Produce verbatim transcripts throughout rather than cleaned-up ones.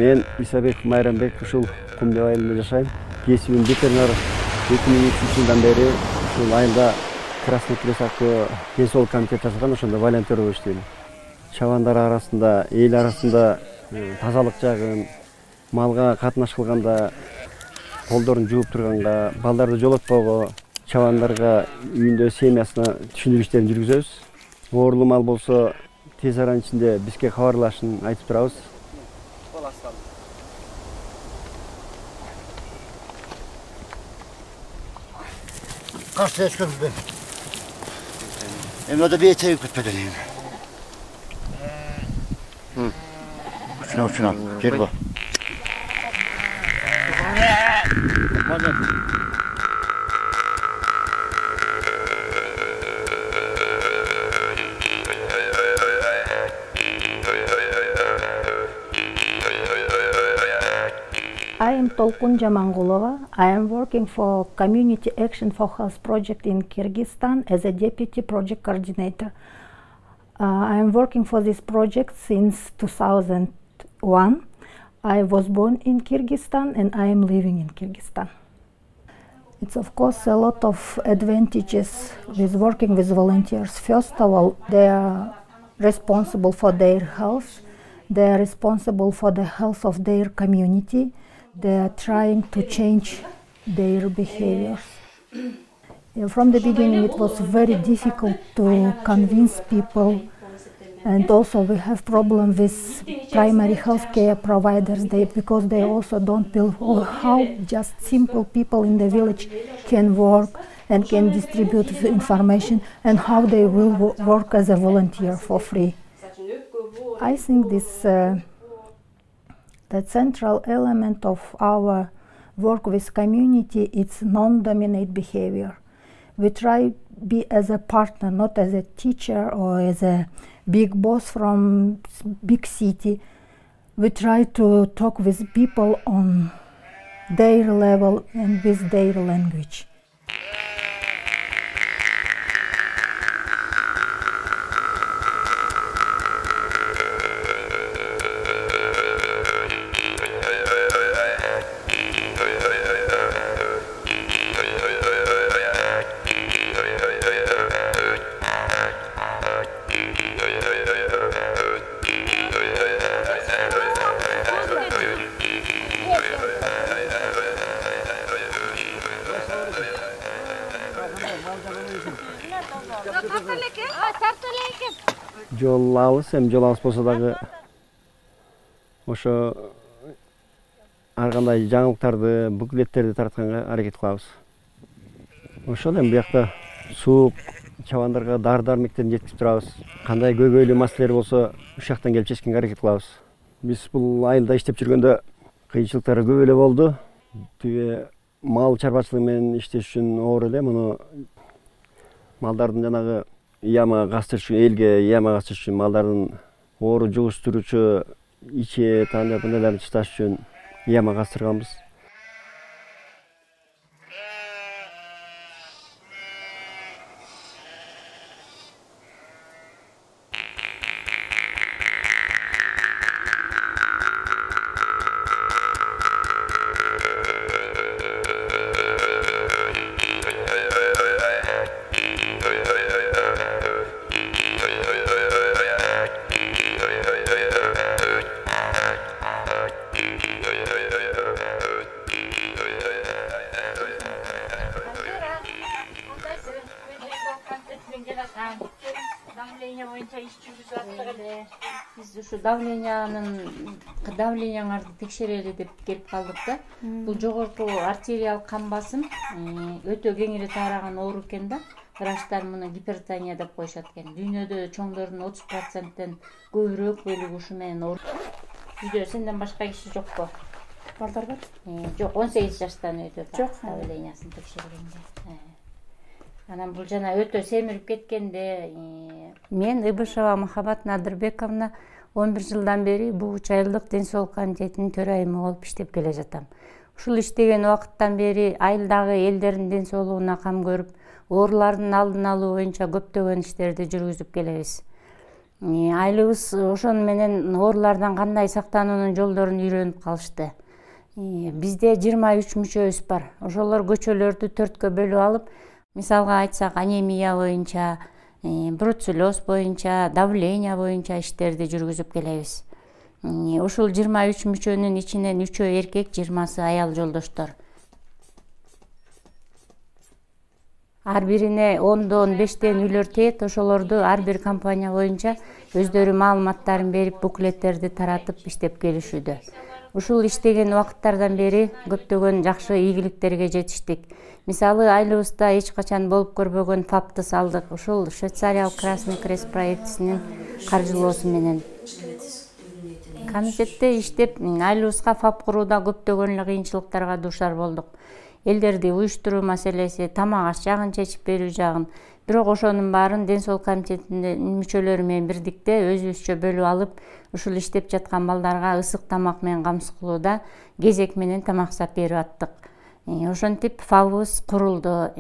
Мен Исабек Майрамбек ушул Кумдеб айылында жашайм. Кесибим ветеринар. эки миң үчүнчү жылдан бери ушул айылда Красный Крест аттуу ден соолук комитет жасаган, ошондо волонтер болуп иштейм. Чабандар арасында, эл арасында тазалык жагын, малга катнаш кылганда колдорун жууп турганга, балдарды жолотпоого, чабандарга үйүндө семьясына түшүндүрүү иштерин жүргүзөбүз. Оорулуу мал болсо тез аранын ичинде бизге кабарлашын айтып турабыз. Каршы эскенбен. Эми ода бейте күтпөдөн эми. Хм. Учуна учуна. Жер бар. I am Tolkun Jamangulova. I am working for Community Action for Health project in Kyrgyzstan as a deputy project coordinator. Uh, I am working for this project since two thousand one. I was born in Kyrgyzstan and I am living in Kyrgyzstan. It's of course a lot of advantages with working with volunteers. First of all, they are responsible for their health. They are responsible for the health of their community. They are trying to change their behaviors. From the beginning, it was very difficult to convince people, and also we have problem with primary healthcare providers they, because they also don't know how just simple people in the village can work and can distribute information and how they will work as a volunteer for free. I think this uh, the central element of our work with community is non-dominate behavior. We try be as a partner, not as a teacher or as a big boss from big city. We try to talk with people on their level and with their language. Жол алыс, эми жол алыс болсо дагы ошо ар кандай жаңылыктарды, буклеттерди таратканга аракет кылабыз. Ошол эми биякта суук, чабандарга дары-дармектерин жеткирип турабыз. Кандай көйгөйлүү маселелер болсо ушул жактан келип чечкенге аракет кылабыз. Биз бул айылда иштеп жүргөндө кыйынчылыктар көп эле болду. Тиги мал чарбачылыгы менен иштеш үчүн оор эле муну малдардын жанагы яма кастырыш үчүн, элге яма кастырыш үчүн малдардын оору жугуштуруучу ичет, андай мындайларын чыдаш үчүн яма кастырганбыз. Биз ушу давлениянын давленияңарды текшерели деп келип калдык да. Бул жогорку артериялык кан басым өтө кеңири тараган оору экен да. Врачтар муну гипертония деп коюшат экен. Дүйнөдө чоңдордун отуз проценттен көбүрөөк бөлүгү ушу менен оор. Үйдө сенден башка киши жокпу? Балдар бар? Жок, он сегиз жаштан өтө давлениясын текшергенде. Анан бул жана өтө семирип кеткенде мен Ыбышева Махабат Надырбековна он бир жылдан бери Бугуч айылдык ден соолук комитетинин төрайымы болуп иштеп келе жатам. Ушул иштеген убакыттан бери айылдагы элдердин ден соолугуна кам көрүп, оорулардын алдын алуу боюнча көптөгөн иштерди жүргүзүп келебиз. Айылыбыз ошону менен оорулардан кандай сактануунун жолдорун үйрөнүп калышты. Бизде жыйырма үч мүчөбүз бар. Ошолор көчөлөрдү төрткө бөлүп алып, мисалга айтсак, анемия боюнча, бруцеллез боюнча, давление боюнча иштерди жүргүзүп келебиз. Ушул жыйырма үч мүчөнүн ичинен үчөө эркек, жыйырмасы аял жолдоштор. Ар бирине ондон бештен үйлөр тиет, ошолорду ар бир компания боюнча өздөрү маалыматтарын берип, буклеттерди таратып иштеп келишүүдө. Ушул иштеген убакыттардан бери көптөгөн жакшы ийгиликтерге жетиштик. Мисалы, айылыбызда эч качан болуп көрбөгөн фапты салдык. Ушул Швейцариялык Красный Крест проектисинин каржылоосу менен. Комитетте иштеп, айылыбызга фап курууда көптөгөн кыйынчылыктарга дуушар болдук. Элдерди уюштуруу маселеси, тамак аш жагын чечип берүү жагын. Бирок ошонун баарын Ден соолук комитетинин мүчөлөрү менен бирдикте өзүбүзчө бөлүп алып, ушул иштеп жаткан балдарга ысык тамак менен камсыз кылууда кезек менен тамак сап берип аттык. Ошентип фабыбыз курулду.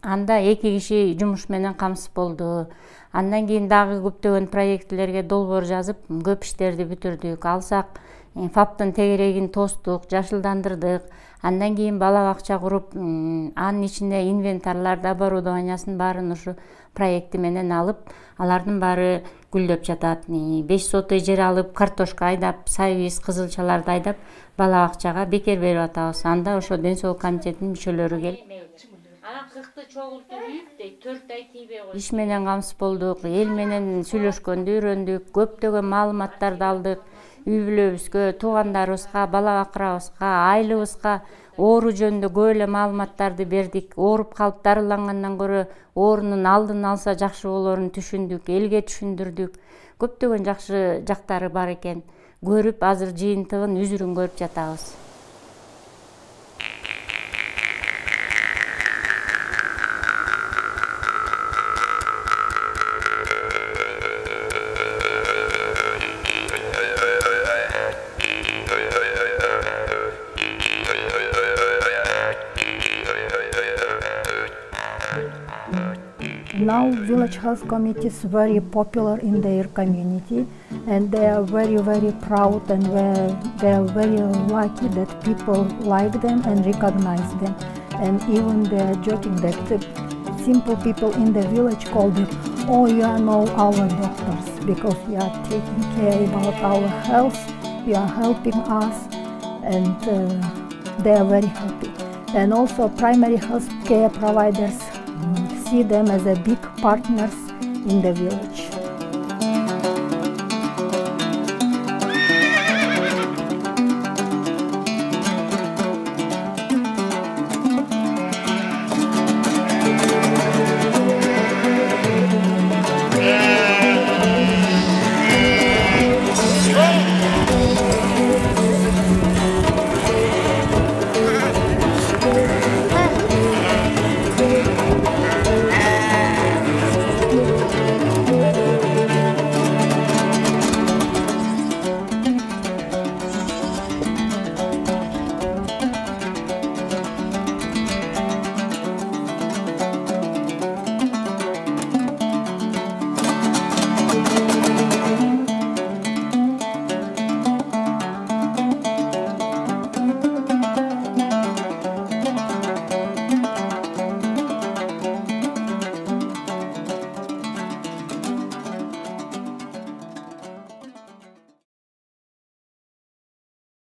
Анда эки киши жумуш менен камсыз болду. Андан кийин дагы көптөгөн проектлерге долбоор жазып, көп иштерди бүтүрдүк. Алсак, фаптын тегерегин тостук, жашылдандырдык. Андан кийин бала бакча куруп, анын ичинде инвентарларды, оборудованиясын баарын ушу проекти менен алып, алардын баары гүлдөп жатат. беш сотый жер алып, картошка айдап, сайбиз, кызылчаларды айдап, бала бакчага бекер берип атабыз. Анда ошо Ден соолук комитетинин мүчөлөрү келип, кыркты чогултуп үйүп, дейт, төрт ай тийбей койду. Иш менен камсыз болдук, эл менен сүйлөшкөндү үйрөндүк, көптөгөн маалыматтарды алдык. Үй бүлөбүзгө, туугандарыбызга, бала бакырабызга, айылыбызга оору жөнүндө көп эле маалыматтарды бердик. Ооруп калып дарылангандан көрө оорунун алдын алса жакшы болоорун түшүндүк, элге түшүндүрдүк. Көптөгөн жакшы жактары бар экен. Көрүп, азыр жыйынтыгын, үзүрүн көрүп жатабыз. Now village health committee is very popular in their community, and they are very very proud, and they are very lucky that people like them and recognize them. And even they are joking that the simple people in the village call them, "Oh, you are now our doctors, because you are taking care about our health, you are helping us," and uh, they are very happy. And also primary health care providers see them as a big partners in the village.